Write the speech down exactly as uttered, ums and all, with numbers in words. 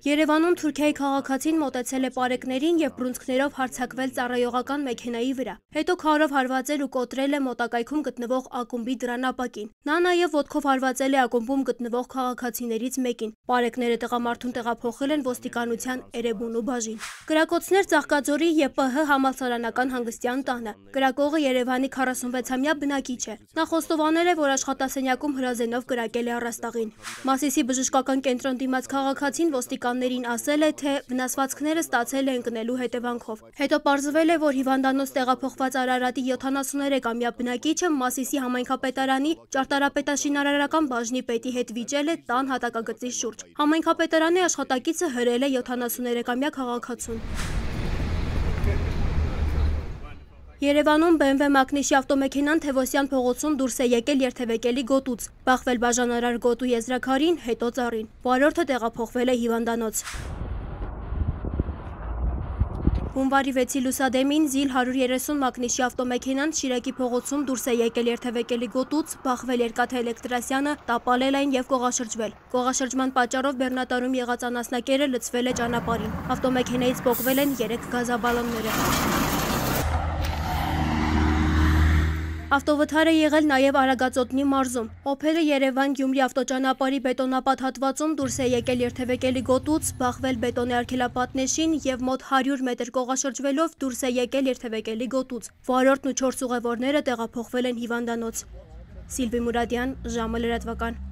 Երևանում Թուրքիայի քաղաքացին մոտեցել է պարեկներին և բռունցքներով հարձակվել ծառայողական մեքենայի վրա։ Հետո քարով հարվածել ու կոտրել է մոտակայքում գտնվող ակումբի դռանապակին։ Նա նաև ոտքով հարվածել է ակումբում գտնվող քաղաքացիներից մեկին։ Պարեկները տղամարդուն տեղափոխել են ոստիկանության Էրեբունու բաժին։ Կրակոցներ Ծաղկաձորի Ե Պ Հ համալսարանական հանգստյան տանը։ Կրակողը Երևանի քառասունվեցամյա բնակիչ է։ Նա խոստովանել է, որ աշխատասենյակում հրազենով կրակել է առաստաղին։ Մասիսի բժշկական կենտրոն դիմաց քաղաքացին ոստիկաններին ասել է, թե վնասվածքները ստացել է ընկնելու հետևանքով։ Հետո պարզվել է, որ հիվանդանոց տեղափոխված Արարատի յոթանասուներեքամյա բնակիչը Մասիսի համայնքապետարանի ճարտարապետաշինարարական բաժնի պետի հետ վիճել է տան հատակագծի շուրջ։ Համայնքապետարանի աշխատակիցը հրել է յոթանասուներեքամյա քաղաքացուն։ Երևանում Բ Մ W մակնիշի ավտոմեքենան Թևոսյան փողոցում դուրս է եկել երթևեկելի գոտուց, բախվել բաժանարար գոտու եզրաքարին, հետո ծառին։ Վարորդը տեղափոխվել է հիվանդանոց։ Հունվարի վեցի լուսադեմին Զիլ հարյուր երեսուն մակնիշի ավտոմեքենան Շիրակի փողոցում դուրս է եկել երթևեկելի գոտուց, բախվել Երկաթե Էլեկտրասյանը, տապալել այն և կողաշրջվել։ Կողաշրջման պատճառով բեռնատարում եղած անասնակերը լցվել է ճանապարհին։ Ավտոմեքենայից պոկվել են երեք գազաբալոնները։ Ավտովթար է եղել նաև Արագածոտնի մարզում։ Օփելը Երևան-Գյումրի ավտոճանապարհի բետոնապատ հատվածում դուրս է եկել երթևեկելի գոտուց, բախվել բետոնե արգելապատնեշին և մոտ հարյուր մետր կողաշրջվելով դուրս է եկել երթևեկելի գոտուց։ Վարորդն ու չորս ուղևորները տեղափոխվել են հիվանդանոց։ Սիլվի Մուրադյան, ժամը լրատվական։